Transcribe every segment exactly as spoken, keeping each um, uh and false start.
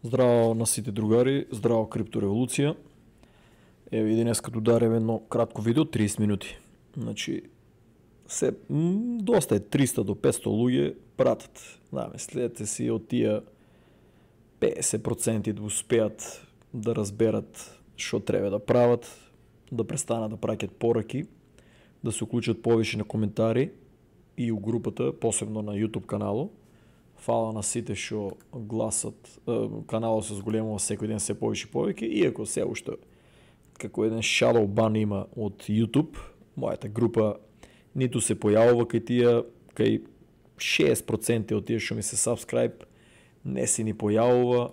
Здраво на сите другари, здраво криптореволуција. Еве и денеска ударев едно кратко видео, триесет минути. Значи, се, м, доста е триста до петсто луѓе пратат. Да, следете си од тие песет проценти да успеат да разберат што треба да прават, да престанат да праќат пораки, да се уклучат повише на коментари и у групата, посебно на YouTube канало. Фала на сите што гласат, каналот се зголемува секој ден се повише повеќе, иако се уште како еден shadow ban има од YouTube, мојата група ниту се појавува кај тие, кај шест проценти од тие што ми се subscribe не се ни појавува,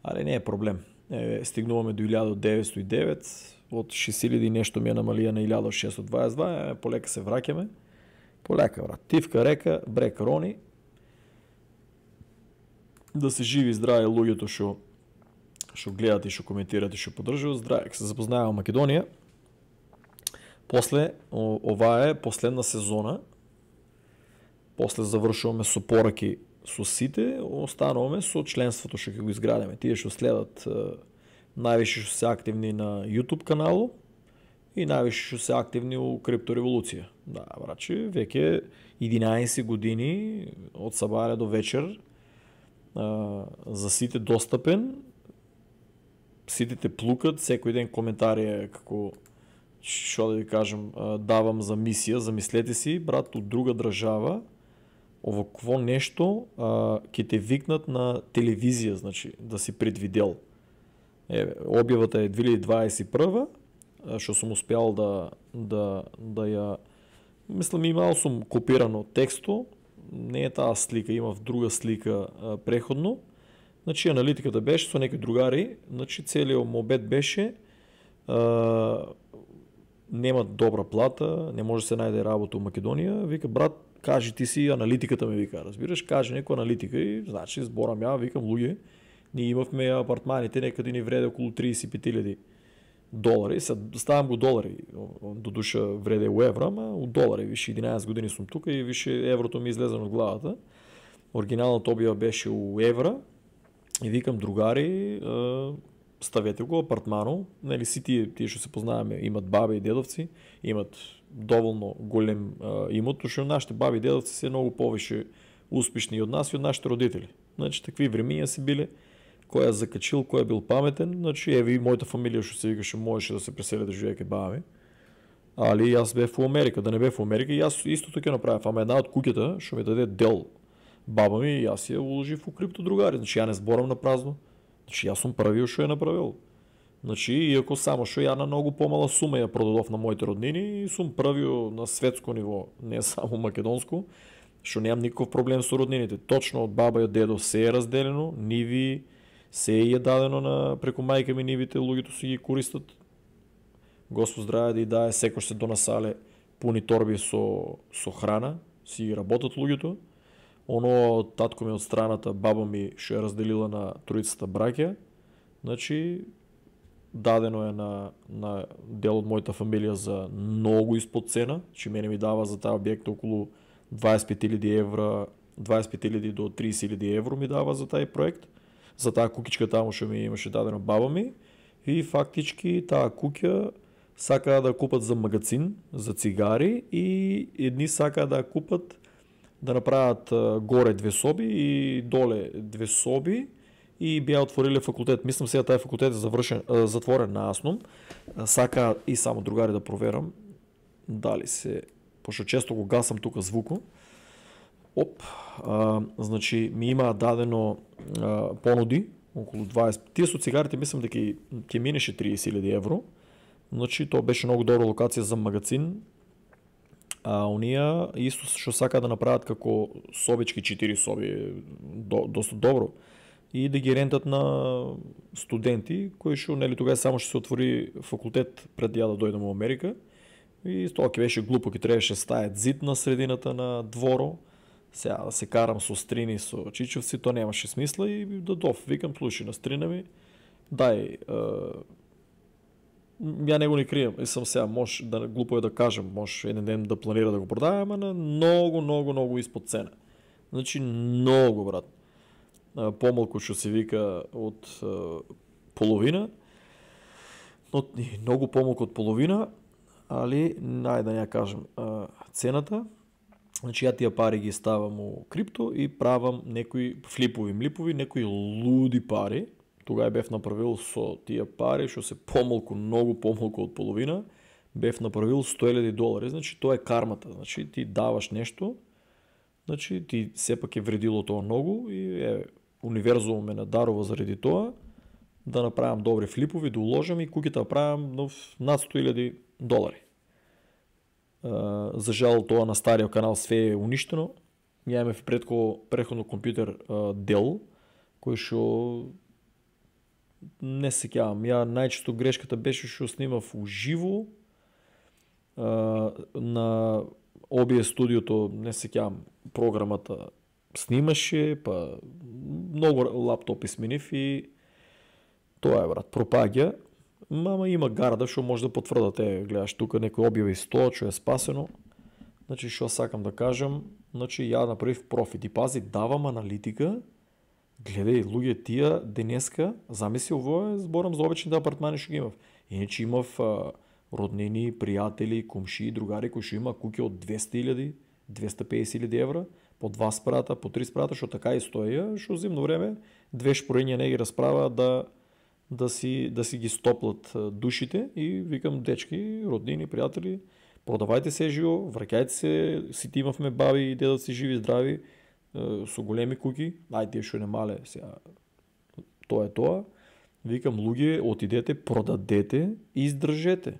але не е проблем. Е, стигнуваме до илјада деветстотини и девет, од шест илјади нешто ми е намалија на илјада шестстотини дваесет и два, е, полека се враќаме. Полека, брат. Тивка река, брег рони. Да се живи здраве луѓето што што гледат и што коментират и што поддржуваат, здраве. Се запознаеме Македонија. После оваа е последна сезона. После завршуваме со пораки со сите, остануваме со членството што ќе го изградиме. Тие што следат највише што се активни на YouTube канало и највише што се активни у криптореволуција. Да, брачи, веќе единаесет години од сабаре до вечер за сите достапен. Сите те плукат, секој ден коментари е како, што да ви кажам, давам за мисија, замислете си, брат, од друга држава, овакво нешто ќе те викнат на телевизија, значи, да си предвидел. Еве, објавата е две илјади дваесет и прва, што сум успеал да, да, да ја, мислам, имал сум копирано тексто, не е таа слика, имав друга слика а, преходно. Значи аналитиката беше со некои другари, значи целиот мобет беше а, нема добра плата, не може да се најде работа во Македонија. Вика, брат, кажи ти си аналитиката ме вика, разбираш, кажи некоја аналитика и значи зборам ја, викам луѓе, ние имавме апартманите некаде ни вреде околу триесет и пет илјади долари, се ставам го долари, до душа вреде у евра, ама у долари, више единаесет години сум тука и више еврото ми излезе од главата. Оригиналната објава беше у евра и викам другари, ставете го апартмано, нели си тие, тие што се познаваме, имат баби и дедовци, имат доволно голем имот, што нашите баби и дедовци се многу повише успешни од нас и од нашите родители. Значи такви времиња се биле, кој е закачил, кој е бил паметен, значи еви мојата фамилија што се викаше можеше да се пресели да живее кај баба ми. Али јас бев во Америка, да не бев во Америка, јас истото ќе направев, ама една од куќата што ми даде дел баба ми, јас ја уложив во крипто другари, значи ја не зборам на празно. Значи јас сум правил што ја направил. Значи иако само што ја на многу помала сума ја продадов на моите роднини и сум правил на светско ниво, не само македонско, што немам никаков проблем со роднините. Точно од баба и од дедо се е разделено, ниви се е дадено на преку мајка ми нивите, луѓето си ги користат. Господ здраве да и дае, секој се донасале пуни торби со со храна, си ги работат луѓето. Оно татко ми од страната, баба ми што е разделила на троицата браќа, значи дадено е на на дел од мојата фамилија за многу испод цена, че мене ми дава за таа објект околу дваесет и пет илјади евра, дваесет и пет илјади до триесет илјади евро ми дава за тај проект, за таа куќичка таму што ми имаше дадено баба ми, и фактички таа куќа сакаа да купат за магазин, за цигари, и едни сакаа да купат да направат горе две соби и доле две соби и беа отвориле факултет. Мислам сега тај факултет е завршен, затворен на Аснум. Сака и само другари да проверам дали се, пошто често го гасам тука звуко. Оп, а, значи ми има дадено а, понуди околу дваесет. Тие со цигарите мислам дека ќе минеше триесет илјади евро. Значи тоа беше многу добра локација за магазин. А оние исто што сака да направат како собички четири соби, до, доста добро. И да ги рентат на студенти кои што нели тогаш само што се отвори факултет пред ја да дојдам во Америка. И тоа ќе беше глупо, ќе требаше стајат зид на средината на дворо. Сега да се карам со стрини, со чичовци, тоа немаше смисла и дадов, викам, слушај на стрина ми, дај, е, ја не го ни крием, и сам сега, може да глупо е да кажам, може еден ден да планира да го продава, ама на многу, многу, многу испод цена. Значи, многу, брат. помалку што се вика од половина, но многу помалку од половина, али најде да ја кажам цената. Значи ја тие пари ги ставам у крипто и правам некои флипови, млипови, некои луди пари. Тогава бев направил со тие пари што се помалку, многу помалку од половина, бев направил сто илјади долари. Значи тоа е кармата. Значи ти даваш нешто, значи ти сепак е вредило тоа многу и е универзумот ме надарува заради тоа да направам добри флипови, да уложам и куќата правам над сто илјади долари. Uh, за жал тоа на стариот канал све е уништено. Ја имав предко претходно компјутер uh, Dell, кој што не се сеќавам. Ја најчесто грешката беше што снимав уживо uh, на о би ес студиото, не се сеќавам, програмата снимаше, па многу лаптопи сменив и тоа е, брат, пропаѓа. Мама има гарда што може да потврдате, гледаш тука некој објави сто, што е спасено. Значи што сакам да кажам, значи ја направив профит и пази, давам аналитика. Гледај луѓе, тие денеска, замисли ово е зборам за обичните апартмани што ги имав. Иначе имав а, роднини, пријатели, комшии, другари кои што има куќи од двесте илјади, двесте и песет илјади евра, по два спрата, по три спрата, што така и стоја, што зимно време две шпорења не ги расправаат да да си да си ги стоплат душите и викам дечки, роднини, пријатели, продавајте се живо, враќајте се, сите имавме баби и дедоци живи здрави, со големи куќи, ајде што не мале, сега тоа е тоа. Викам луѓе, отидете, продадете и издржете.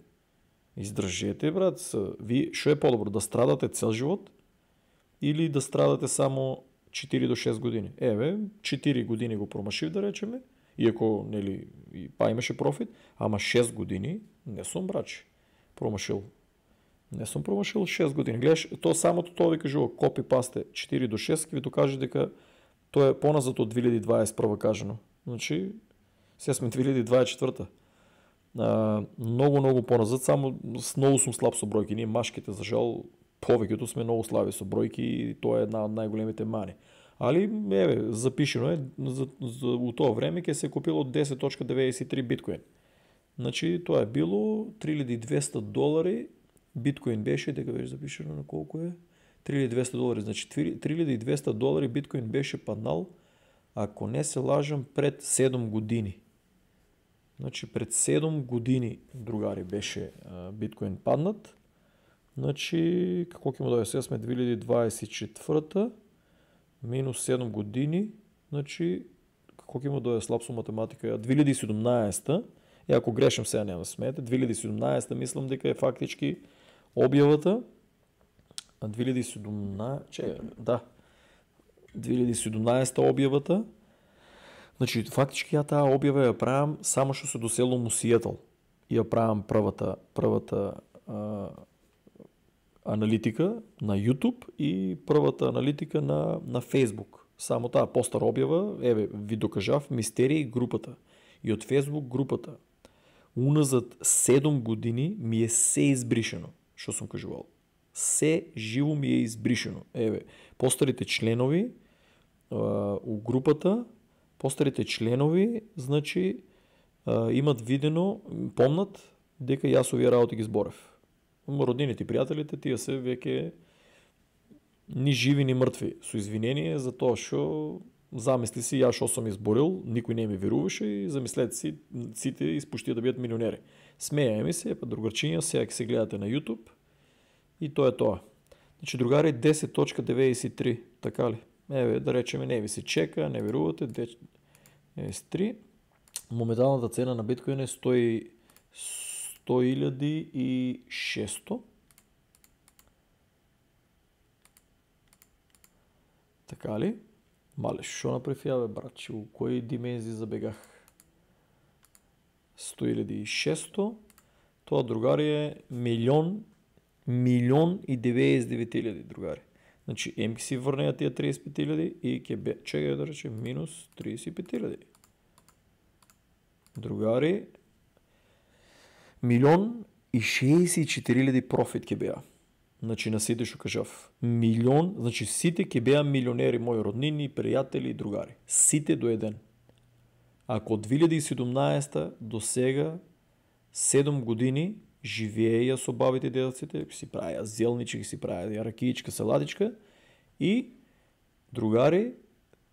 Издржете, брат, ви што е подобро, да страдате цел живот или да страдате само четири до шест години. Еве, четири години го промашив да речеме, иако нели па имаше профит, ама шест години не сум брачи промашил. Не сум промашил шест години. Гледаш, то самото тоа ви кажува копи пасте четири до шест, ќе ви докаже дека тоа е поназад од две илјади дваесет и прва кажано. Значи, сега сме две илјади дваесет и четврта. А, многу многу поназад, само многу сум слаб со бројки. Ние машките за жал повеќето сме многу слаби со бројки и тоа е една од најголемите мани. Али, еве, запишено е, за, за, у тоа време ќе се купило десет точка деветдесет и три биткоин. Значи, тоа е било три илјади и двесте долари, биткоин беше, дека беше запишено на колку е? три илјади и двесте долари, значи три илјади и двесте долари биткоин беше паднал, ако не се лажам, пред седум години. Значи, пред седум години, другари, беше а, биткоин паднат. Значи, како ќе му дојде, сега сме две илјади дваесет и четврта, минус седум години, значи, како ќе му дојде, слаб со математика, две илјади и седумнаесета, и ако грешам сега нема смете, две илјади и седумнаесета мислам дека е фактички објавата, а две илјади и седумнаесета, че, да, две илјади и седумнаесета објавата, значи, фактички ја таа објава ја правам само што се доселувам у Сиетл. И ја правам првата, првата а, аналитика на YouTube и првата аналитика на, на Facebook. Само таа постара објава, еве, ви докажав, Мистерии групата. И од Facebook групата, уназад седум години ми е се избришено, што сум кажувал. Се живо ми е избришено. Еве, постарите членови а, у групата, постарите членови, значи, а, имат видено, помнат, дека јас овие работи ги зборев. Роднините и пријателите, тие се веќе ни живи, ни мртви. Со извинение за тоа што замисли си јас што сум изборил, никој не ми веруваше и замислете си, сите испуштија да бидат милионери. Смеја ми се, па другарчиња, сега ќе се гледате на YouTube и тоа е тоа. Значи, другари, десет точка деветдесет и три, така ли? Еве, да речеме, не ви се чека, не верувате, деветдесет и три. Моменталната цена на биткоин е сто илјади и шесто. Така ли? Мале, шо направив ја, бе, брат, у кои димензии забегах? сто илјади и шесто. Тоа, другари, е милион, милион и деветдесет и девет илјади, другари. Значи, ем ки си врнеја тие триесет и пет илјади и ќе бе, чекај да рече, минус триесет и пет илјади. Другари, милион и шеесет и четири илјади профит ќе беа. Значи на сите што кажав. Милион, значи сите ќе беа милионери, мои роднини, пријатели и другари. Сите до еден. Ако од две илјади и седумнаесета до сега седум години живееја со бабите и дедовците, си правеа зелнички, си правеа ракиичка, салатичка и другари,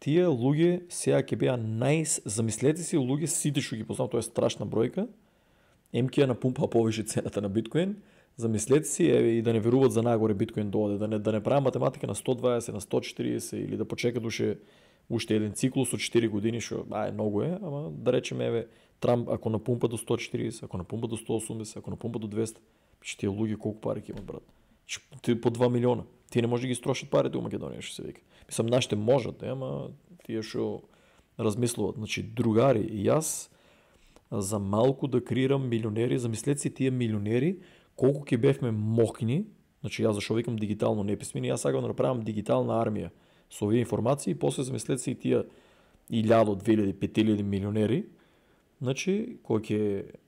тие луѓе сега ќе беа најс, замислете си луѓе сите што ги познавам, тоа е страшна бројка. Ем ќе ја напумпаа повише цената на биткоин. Замислете си, еве, и да не веруваат за нагоре биткоин доаде, да не да не правам математика на сто дваесет, на сто четириесет или да почека душе уште еден циклус од четири години, што а е многу е, ама да речеме еве Трамп ако напумпа до сто четириесет, ако напумпа до сто осумдесет, ако напумпа до двеста, че тие луѓе колку пари ќе имат, брат? Че по два милиона. Тие не може да ги строшат парите у Македонија, што се вика. Мислам, нашите можат, ама тие што размислуваат. Значи, другари, и јас за малку да креирам милионери, замислете си тие милионери, колку ќе бевме мокни, значи јас зашо викам дигитално неписмени, јас сакам да направам дигитална армија со овие информации и после замислете си тие илјада, две илјади, пет илјади милионери. Значи, кој ќе,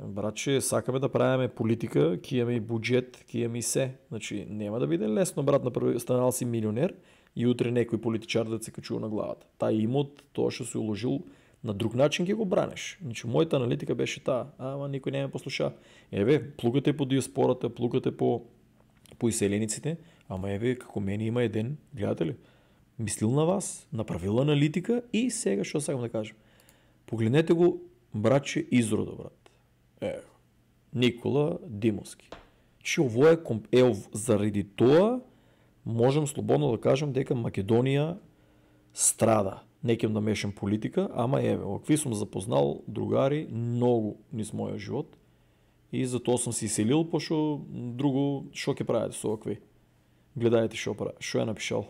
братче, сакаме да правиме политика, ќе имаме и буџет, ќе имаме и се. Значи, нема да биде лесно, брат, на први станал си милионер и утре некој политичар да се качува на главата. Тај имот, тоа што се уложил, на друг начин ќе го бранеш. Значи, мојата аналитика беше таа, ама никој не ме послуша. Еве, плугате по диаспората, плугате по по иселениците, ама еве како мене има еден, гледате ли? Мислил на вас, направил аналитика и сега што сакам да кажам. Погледнете го, братче, изрода, брат. Е, Никола Димовски. Че ово е, е заради тоа можам слободно да кажам дека Македонија страда. Не ќе да мешам политика, ама еве, овакви сум запознал другари многу низ мојот живот и затоа сум се иселил, пошто друго што ќе правите со овакви. Гледајте што прави, што е напишал.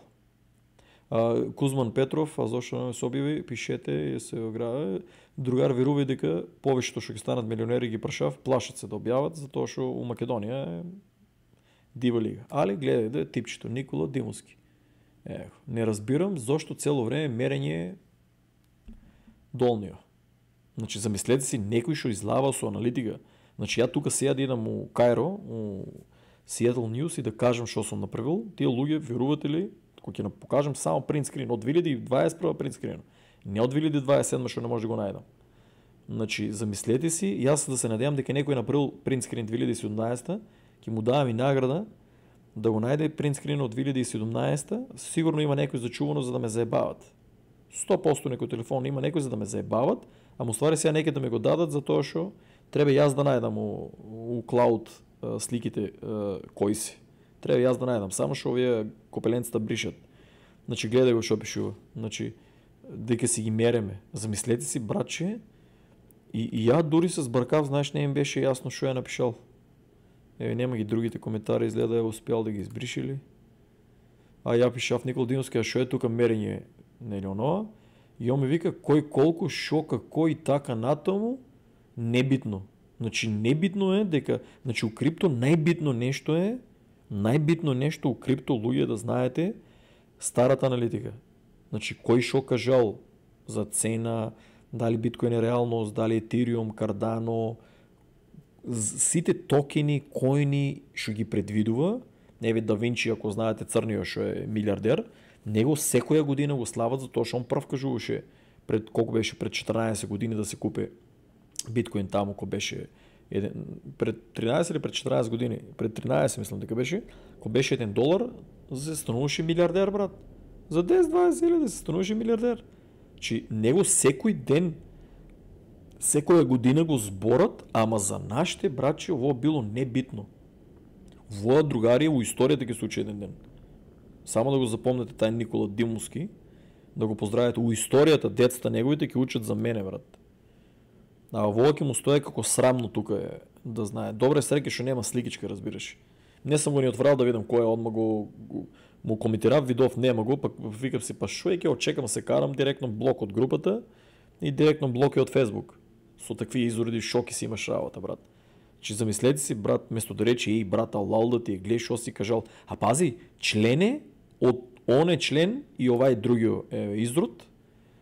А, Кузман Петров, а зошто не се објави, пишете и се ограе. Другар верувај дека повеќето што ќе станат милионери ги прашав, плашат се да објават, затоа што у Македонија е дива лига. Али гледајте типчето Никола Димовски. Е, не разбирам зошто цело време мерење долнио. Значи, замислете си некој што излава со аналитика. Значи, ја тука сега да идам у Кајро, у Seattle News и да кажам што сум направил, тие луѓе верувате ли, кога ќе покажам само принт скрин од две илјади и дваесет и прва принт скрин, не од две илјади дваесет и седма што не може да го најдам. Значи, замислете си, јас да се надевам дека некој направил принт скрин две илјади и седумнаесета, ќе му давам и награда да го најде принт скрин од две илјади и седумнаесета, сигурно има некој зачувано за да ме заебават. сто проценти некој телефон има некој за да ме заебават, ама уствари сега некој да ме го дадат затоа што треба јас да најдам у, у клауд сликите кои си. Треба јас да најдам, само што овие копеленцата бришат. Значи гледај го што пишува. Значи дека си ги мереме. Замислете си, братче, и, и ја дури се збркав, знаеш, не им беше јасно што ја напишал. Еве нема ги другите коментари, изгледа е успеал да ги избришили. А ја пишав Никола Димовски, а што е тука мерење, нели онова? И он ми вика кој колку, шо, како и така натаму, небитно. Значи небитно е дека, значи у крипто најбитно нешто е, најбитно нешто у крипто луѓе да знаете старата аналитика. Значи кој шо кажал за цена, дали биткоин е реалност, дали Етериум, Кардано, сите токени, коини што ги предвидува, еве Да Винчи, ако знаете црниот што е милиардер, него секоја година го слават затоа што он прв кажуваше пред колку беше пред четрнаесет години да се купи биткоин таму кој беше еден, пред тринаесет или пред четрнаесет години, пред тринаесет мислам дека беше, кој беше еден долар, се стануваше милиардер, брат. За десет дваесет илјади се стануваше милиардер. Чи него секој ден, секоја година го зборат, ама за нашите братче ово било небитно. Воа другари во историјата ќе случи еден ден. Само да го запомнете тај Никола Димовски, да го поздравите у историјата, децата неговите ќе учат за мене, брат. А воа ќе му стои како срамно тука е, да знае. Добре среќа што нема сликичка, разбираш. Не сам го ни отврал да видам кој е, одма го, го му коментирав, видов нема го, пак викав си па шо е, ќе очекам се карам директно блок од групата и директно блоки од Facebook. Со такви изуреди шоки си имаш работа, брат. Че замислете си, брат, место да рече и брата лал да ти гледаш што си кажал. А пази, члене од оне член и овај другиот е, изрод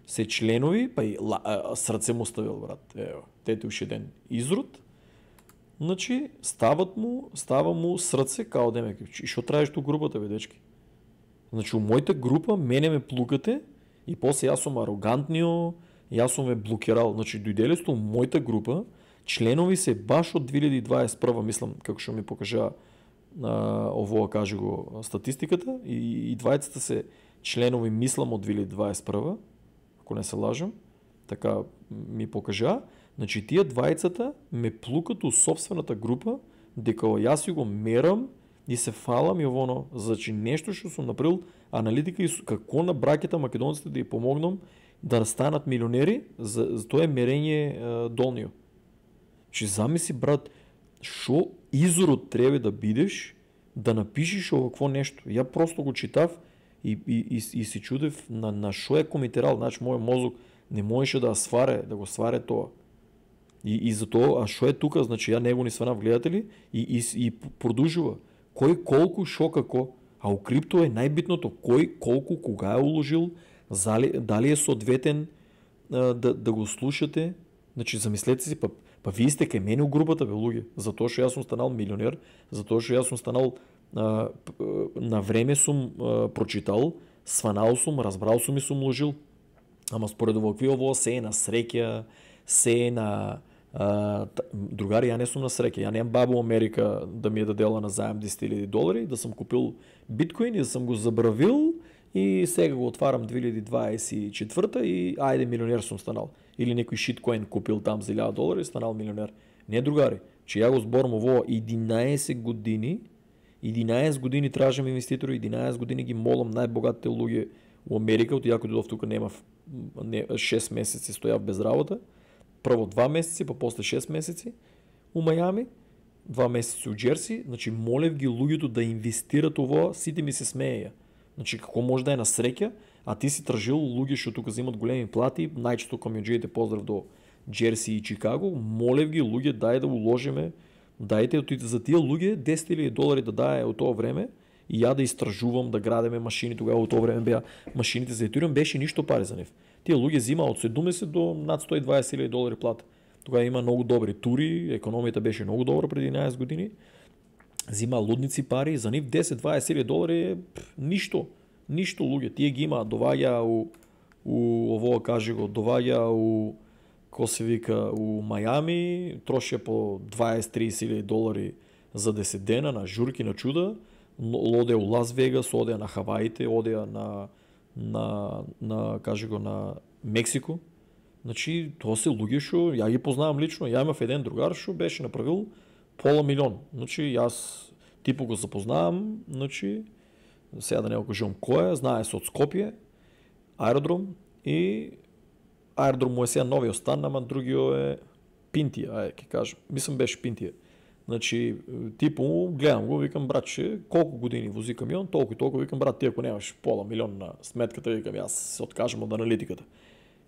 се членови, па и ла, а, срце му ставил, брат. Ево, тете уште еден изрод. Значи, стават му, става му срце као демек. И што траеш ту групата, бе, дечки? Значи, у мојата група мене ме плукате и после јас сум арогантнио, јас сум ме блокирал. Значи, дојделе сте у мојата група, членови се баш од две илјади и дваесет и прва, мислам, како што ми покажа а, овоа, каже го, статистиката, и, и двајцата се членови, мислам, од две илјади дваесет и прва, ако не се лажам, така ми покажа. Значи, тие двајцата ме плукат у собствената група, дека јас си го мерам и се фалам и овоно, значи нешто што сум направил аналитика и како на браќата македонците да ја помогнам да станат милионери, за, за тоа е мерење е, долнио. Значи, замисли, брат, шо изорот треба да бидеш да напишеш овакво нешто. Ја просто го читав и, и, и, и си чудев на, на шо е комитерал. Значи, мојот мозок не можеше да сваре, да го сваре тоа. И, и затоа, а шо е тука, значи ја него ни сванав гледатели и, и, и продолжува. Кој колку, шо како, а у крипто е најбитното, кој колку, кога е уложил, зали, дали е соодветен а, да, да го слушате. Значи, замислете си, па, па вие сте кај мене у групата, бе, луѓе, затоа што јас сум станал милионер, затоа што јас сум станал, а, на време сум а, прочитал, сванал сум, разбрал сум и сум уложил. Ама според овакви ово се е на среќа, се е на Uh, другари, ја не сум на среќа, ја немам бабу Америка да ми е дадела на заем десет илјади долари, да сум купил биткоин и да сум го забравил и сега го отварам две илјади дваесет и четврта и ајде милионер сум станал. Или некој шиткоин купил там за илјада долари и станал милионер. Не, другари, че ја го зборам ово единаесет години, единаесет години тражам инвеститори, единаесет години ги молам најбогатите луѓе у Америка, од јако додов тука немав не, шест месеци стојав без работа. Прво два месеци, па после шест месеци у Мајами, два месеци у Джерси, значи молев ги луѓето да инвестират ово, сите ми се смееја. Значи како може да е на среќа, а ти си тражил луѓе што тука земат големи плати, најчесто комјуџиите, поздрав до Джерси и Чикаго, молев ги луѓе дај да уложиме, дајте за тие луѓе десет илјади долари да дае од тоа време и ја да истражувам, да градеме машини, тогава од тоа време беа машините за Ethereum, беше ништо пари за нив. Тие луѓе зима од седумдесет до над сто и дваесет илјади долари плата. Тогава има многу добри тури, економијата беше многу добра преди единаесет години. Зима лудници пари, за нив десет до дваесет илјади долари е пф, ништо. Ништо луѓе. Тие ги има, доваѓа у, у ово, каже го, доваѓа у, ко се вика, у Мајами, троши по дваесет до тридесет илјади долари за десет дена на журки, на чуда. Оде у Лас Вегас, оде на Хаваите, оде на на на каже го на Мексико. Значи тоа се луѓе што ја ги познавам лично. Ја имав еден другар што беше направил пола милион. Значи јас типо го запознавам, значи сега да не го кажам кој е, знае се од Скопје, аеродром и аеродром му е сега новиот стан, ама другиот е Пинтија, ајде ќе кажам. Мислам беше Пинтија. Значи, типо, гледам го, викам, братче, колку години вози камион, толку и толку, викам, брат, ти ако немаш пола милион на сметката, викам, јас се откажам од аналитиката.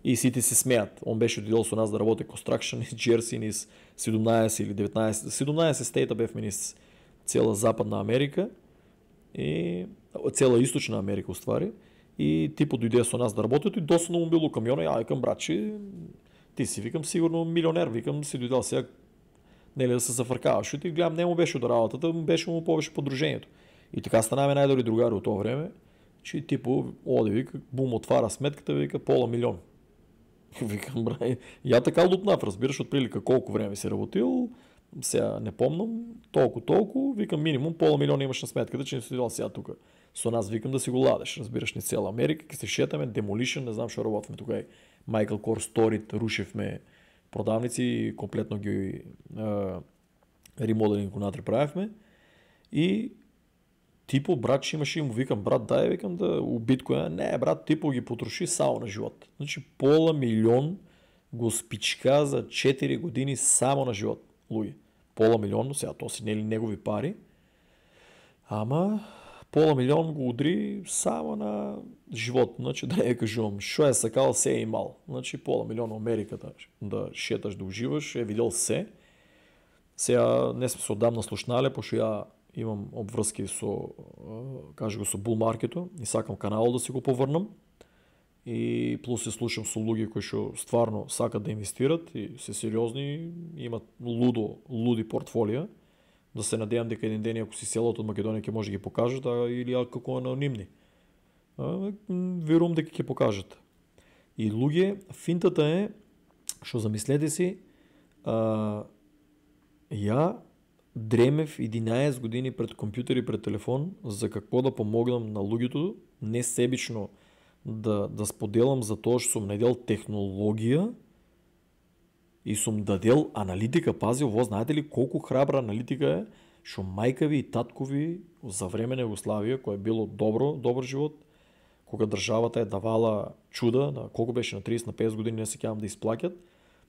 И сите се смеат. Он беше дојдел со нас да работи construction из Джерси, низ седумнаесет или деветнаесет, седумнаесет стейта бевме низ цела Западна Америка и цела Источна Америка уствари. И типо дојде со нас да работи и досадно му било камиона, ја викам, братче, ти си, викам, сигурно милионер, викам, си дојдел сега, нели да се зафркаваш, и гледам не му беше до работата, му беше му повеќе подружењето. И така станаме најдобри другари од тоа време, че типу оде вика, бум отвара сметката, вика пола милион. Викам, брај, ја така лупнав, разбираш од прилика колку време си работил, сега не помнам, толку толку, викам минимум пола милион имаш на сметката, че не си дел сега тука. Со нас викам да си го ладеш, разбираш, ни цела Америка, ке се шетаме, Demolition, не знам што работиме тука, Michael Kors, Storit, рушевме продавници и комплетно ги ремоделинг унатре правевме. И типо брат ще имаше и му викам, брат дај, викам да у биткоина, не брат, типо ги потроши само на живот. Значи пола милион го спичка за четири години само на живот, луѓе. Пола милион, сега тоа си нели негови пари, ама пола милион го удри само на живот. Значи да не кажувам, шо е сакал, се е имал. Значи пола милион Америката да шеташ, да уживаш, е видел се. Сега не сме се одамна слушнале, пошто ја имам обврски со, каже го, со Bull Market-о и сакам каналот да си го поврнам. и плюс се слушам со луѓе кои што стварно сакат да инвестират и се сериозни, имат лудо, луди портфолија, да се надевам дека еден ден ако си селот од Македонија ќе може да ги покажат, а или како анонимни. А, верувам дека ќе покажат. И луѓе, финтата е што замислете си, а, ја дремев единаесет години пред компјутер и пред телефон за какво да помогнам на луѓето, не себично да, да споделам за тоа што сум најдел технологија и сум дадел аналитика. Пази, ово знаете ли колку храбра аналитика е, што мајка ви и татко ви за време на Југославија, кој е било добро, добар живот, кога државата е давала чуда, на колку беше на триесет на песет години, не се сеќавам, да исплаќат,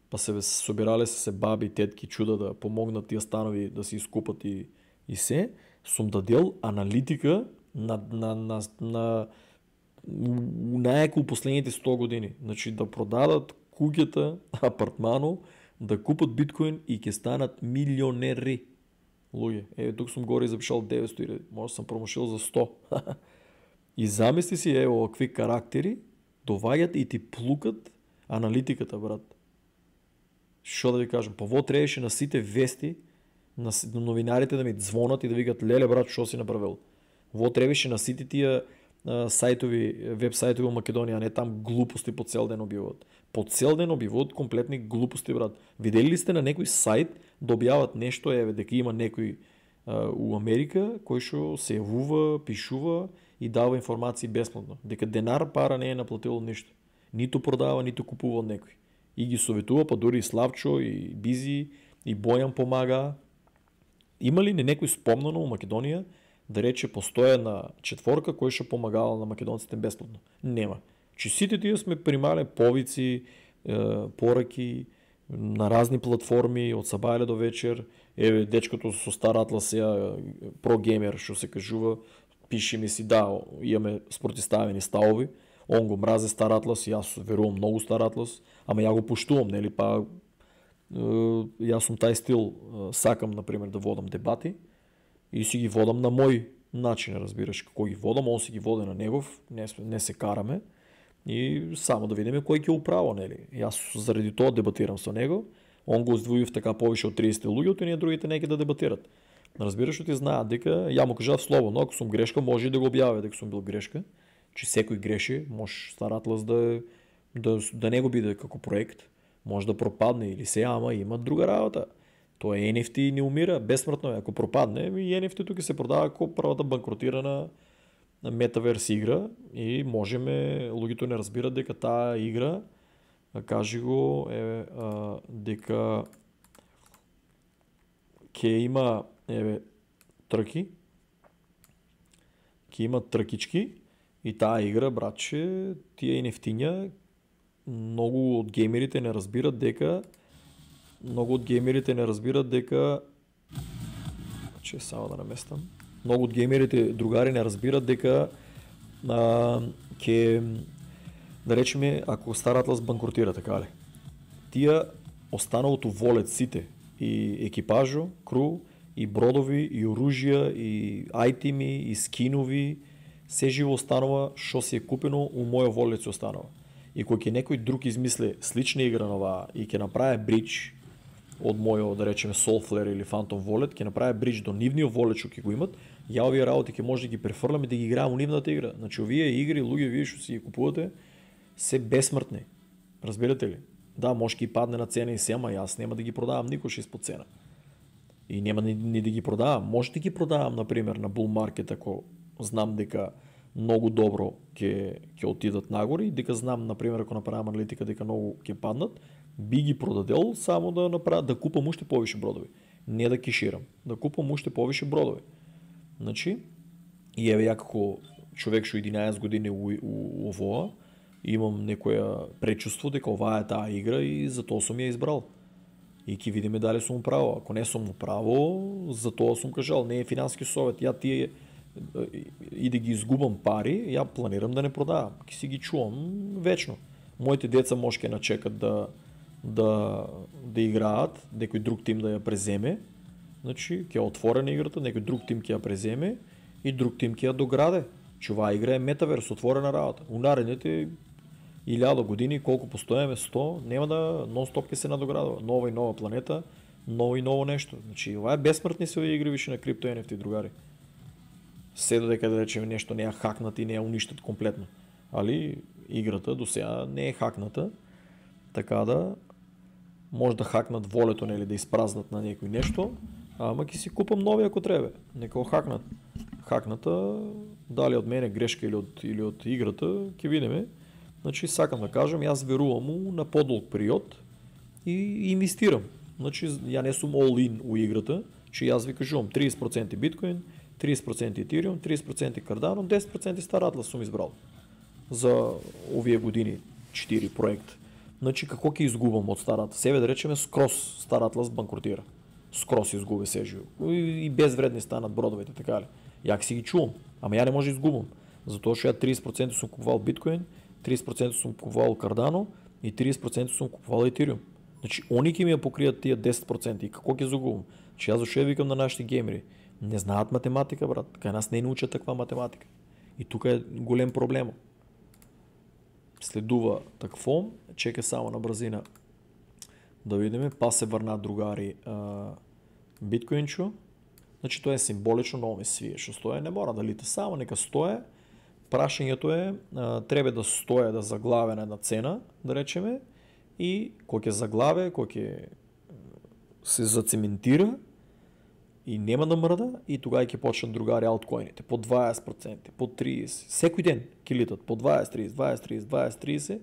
па се собирале се, се баби, тетки, чуда да помогнат тие станови да се искупат и, и се, сум дадел аналитика на, на, на, на најако у последните сто години. Значи да продадат куќата, апартмано, да купат биткоин и ќе станат милионери. Луѓе, е, тук сум горе запишал деветстотини, може сам промошил за сто. И замисли си, е, овакви карактери доваѓат и ти плукат аналитиката, брат. Што да ви кажам, па во требаше на сите вести, на новинарите да ми звонат и да викат, леле брат, што си направил? Во требаше на сите тие а, сајтови, веб сајтови во Македонија, а не там глупости по цел ден објавуваат. По цел ден објавуваат комплетни глупости, брат. Видели ли сте на некој сајт да објават нешто, еве, дека има некој а, у Америка кој што се јавува, пишува и дава информации бесплатно, дека денар пара не е наплатило ништо. Ниту продава, ниту купува од некој. И ги советува, па дури и Славчо, и Бизи, и Бојан помага. Има ли не некој спомнано у Македонија да рече постоја на четворка кој што помагала на македонците бесплатно? Нема. Чи сите тие сме примале повици, е, пораки на разни платформи од сабајле до вечер. Еве дечкото со стар атлас, ја прогеймер што се кажува, пиши ми си, да, имаме спротиставени ставови. Он го мразе стар атлас, јас верувам многу стар атлас, ама ја го пуштувам, нели, па јас сум тај стил, сакам, например, да водам дебати и си ги водам на мој начин, разбираш, како ги водам, он си ги води на негов, не, не се караме и само да видиме кој ќе управо, нели. Јас заради тоа дебатирам со него, он го издвоив така повише од триесет луѓе, и ние другите неќе да дебатират. Разбираш, што ти знаат дека ја му кажав слободно, ако сум грешка, може и да го објавя дека сум бил грешка. Че секој греши, може стар атлас да, да, да не го биде како проект, може да пропадне или се, ама има друга работа. Тоа Ен Еф Ти не умира, бесмртно е. Ако пропадне, и Ен Еф Ти тук се продава како првата банкротирана метаверс игра и можеме, луѓето не разбират дека таа игра, кажи го, е, а, дека ќе има, еве, трки, ќе има тркички, и таа игра, братче, тие Ен Еф Ти-ња, многу од геймерите не разбират дека многу од геймерите не разбират дека че само да наместам. Многу од геймерите другари не разбират дека а, ке да речеме ако Стар Атлас банкротира, така ли. Тие останалото волет сите и екипажо, кру, и бродови, и оружја, и ајтеми, и скинови, се живо останува што си е купено у мојот волет се останува. И кога ќе некој друг измисли слична игра на оваа и ќе направи бридж од мојот, да речеме, Soulflare или Phantom Wallet, ќе направи бридж до нивниот волет што ќе го имат, ја овие работи ќе може да ги префрлам и да ги играам у нивната игра. Значи овие игри, луѓе, вие што си ги купувате, се бесмртни. Разбирате ли? Да, може ќе падне на цена и се, ама јас нема да ги продавам никош испод цена. И нема ни, ни да ги продавам. Може да ги продавам, например, на bull market, ако знам дека многу добро ќе ќе отидат нагоре и дека знам, например, ако направам аналитика дека многу ќе паднат, би ги продадел само да направам, да купам уште повише бродови. Не да кеширам, да купам уште повише бродови. Значи, и еве ја како човек што единаесет години у, у, у овоа, имам некоја пречувство дека оваа е таа игра и затоа сум ја избрал. И ќе видиме дали сум право. Ако не сум право, затоа сум кажал, не е финански совет. Ја тие и да ги изгубам пари, ја планирам да не продавам. Ќе си ги чувам вечно. Моите деца може ќе начекат да да да играат, некој друг тим да ја преземе. Значи, ќе отворена играта, некој друг тим ќе ја преземе и друг тим ќе ја дограде. Че оваа игра е метаверс, отворена работа. У наредните илјада години, колку постоеме, сто, нема да нон-стоп ќе се надоградува. Нова и нова планета, ново и ново нешто. Значи, ова е бесмртни се овие игри више на крипто ен еф ти, другари. Се додека да речеме нешто не ја хакнат и не ја уништат комплетно. Али играта до сега не е хакната, така да може да хакнат волето, нели, да испразнат на некој нешто, ама ќе си купам нови ако треба. Нека го хакнат. Хакната, дали од мене грешка или од или од играта, ќе видиме. Значи сакам да кажам, јас верувам му на подолг период и инвестирам. Значи ја не сум all in у играта, че јас ви кажувам триесет проценти биткоин, триесет проценти Ethereum, триесет проценти Cardano, десет проценти Star Atlas сум избрал за овие години четири проект. Значи како ќе изгубам од Star Atlas? Себе да речеме скрос Star Atlas банкротира. Скрос изгуби сежио. И безвредни станат бродовите, така ли? Ја си ги чувам, ама ја не може да изгубам. Затоа што ја триесет проценти сум купувал биткоин, триесет проценти сум купувал Cardano и триесет проценти сум купувал Ethereum. Значи, они ќе ми ја покријат тие десет проценти. И како ќе загубам? Че јас зашто ја викам на нашите геймери? Не знаат математика, брат. Кај нас не научат таква математика. И тука е голем проблем. Следува такво, чека само на брзина да видиме, па се врна другари а, биткоинчо. Значи тоа е символично, но ме свие што стое, не мора да лита само, нека стое. Прашањето е, а, треба да стое, да заглаве на една цена, да речеме, и кој ќе заглаве, кој ќе се зацементира и нема да мрда, и тогава ќе почнат другари алткоините по дваесет проценти, по тридесет, секој ден ќе литат по дваесет, тридесет, дваесет, тридесет, дваесет, тридесет.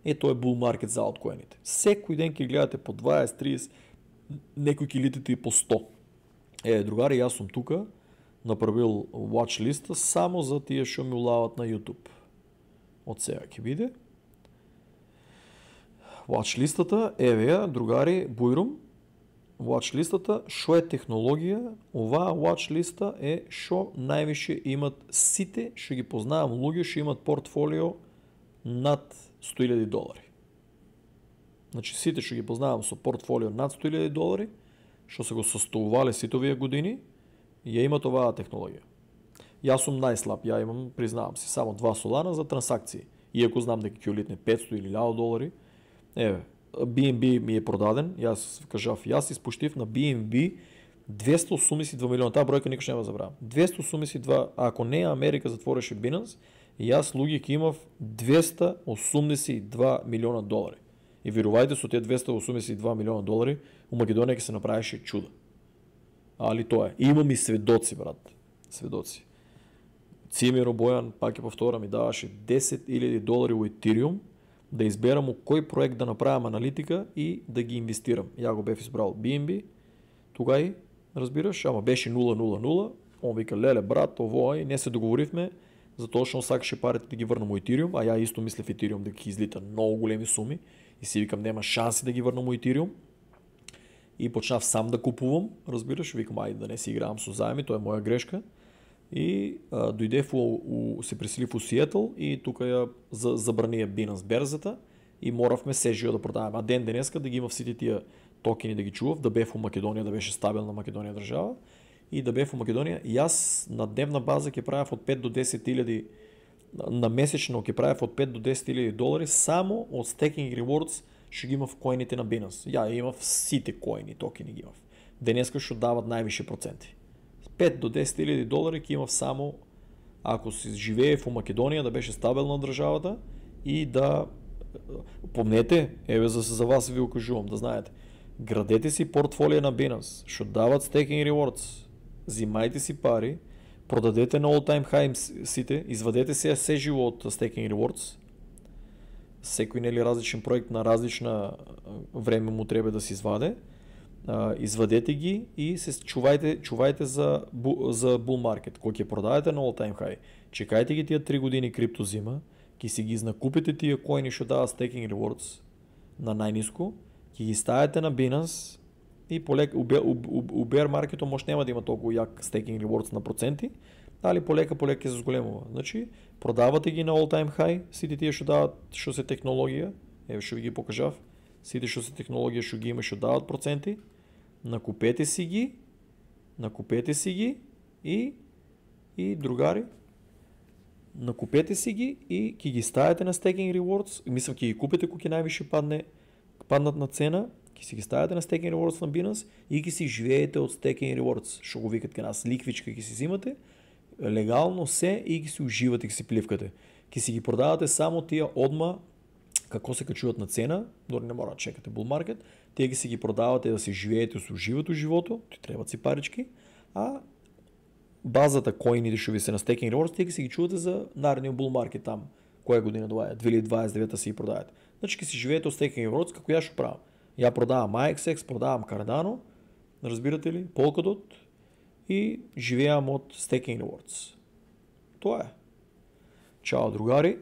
Е, тоа е bull market за алткоините. Секој ден ќе гледате по дваесет, тридесет, некој ќе литате и по сто. Е, другари, јас сум тука направил watch листа само за тие што ми улават на YouTube. Од сега ќе биде. Watch листата, еве ја, другари, бујрум. Watch листата, што е технологија? Оваа watch листа е што највише имат сите, што ги познавам луѓе, што имат портфолио над сто илјади долари. Значи сите што ги познавам со портфолио над сто илјади долари, што се го состоувале сите овие години, ја имат оваа технологија. Јас сум најслаб, ја имам, признавам си, само два солана за трансакции. Иако знам дека ќе улитне петсто или илјада долари. Еве, би ен би ми е продаден, јас кажав, јас испуштив на би ен би двесто осумдесет и два милиона, таа бројка никош нема забравам. двесто осумдесет и два, а ако не Америка затвореше Binance, јас луѓе ќе имав двесто осумдесет и два милиона долари. И верувајте, со тие двесто осумдесет и два милиона долари у Македонија ќе се направише чудо. Али тоа е. И имам и сведоци, брат. Сведоци. Цимиро Бојан, пак ќе повторам, ми даваше десет илјади долари у Ethereum да изберам у кој проект да направам аналитика и да ги инвестирам. Ја го бев избрал би ен би, тугај, разбираш, ама беше нула нула нула. Он вика, леле, брат, ово и не се договоривме, затоа што он сакаше парите да ги врнам у Ethereum, а ја исто мислев Ethereum да ги излита многу големи суми и си викам нема шанси да ги врнам у Ethereum. И почнав сам да купувам, разбираш, викам ајде да не си играам со заеми, тоа е моја грешка. И а, дојдев у, у се преселив у Сиетл и тука ја за, забранија Binance берзата и моравме сежио да продаваме. А ден денеска да ги имав сите тие токени да ги чував, да бев у Македонија, да беше стабилна Македонија држава и да бев у Македонија. Јас на дневна база ќе правев од пет до десет илјади, на месечно ќе правев од пет до десет илјади долари само од staking rewards што ги имав коините на Binance. Ја имав сите коини, токени ги имав. Денеска што дават највише проценти. пет до десет илјади долари ќе имав само ако се живеев у Македонија, да беше стабилна државата и да помнете, еве за за вас ви укажувам да знаете. Градете си портфолио на Binance, што дават staking rewards. Зимајте си пари, продадете на all time high сите, извадете се се живо од staking rewards. Секој нели различен проект на различна време му треба да се изваде. Uh, извадете ги и се чувајте, чувајте за, бу, за bull market. Кој ќе продадете на all time high, чекајте ги тие три години крипто зима, ќе си ги накупите тие коини што дават staking rewards на најниско, ќе ги ставите на Binance и полека у, у, у, у bear marketo може нема да има толку јак staking rewards на проценти, али полека полека ќе се зголемува. Значи, продавате ги на all time high, сите тие што дават што се технологија, еве што ви ги покажав, сите што се технологија што ги има што дават проценти, накупете си ги, накупете си ги и и другари, накупете си ги и ќе ги ставите на Staking Rewards, мислам ќе ги купите кога ќе највише падне, паднат на цена, ќе си ги ставите на Staking Rewards на Binance и ќе си живеете од Staking Rewards, што го викат кај нас ликвичка, ќе си взимате легално се и ќе си уживате, ќе си пливкате. Ќе си ги продавате само тие одма како се качуваат на цена, дори не мора да чекате bull market, тие ги си ги продавате да се живеете, се уживате у живото, ти требаат си парички, а базата коините што ви се на Staking Rewards, тие ги си ги чувате за наредниот bull market там, која година тоа е, две илјади дваесет и девета си ги продајате. Значи ќе си живеете од Staking Rewards како ја што правам. Ја продавам A X X, продавам Cardano, разбирате ли, Polkadot и живеам од Staking Rewards. Тоа е. Чао, другари!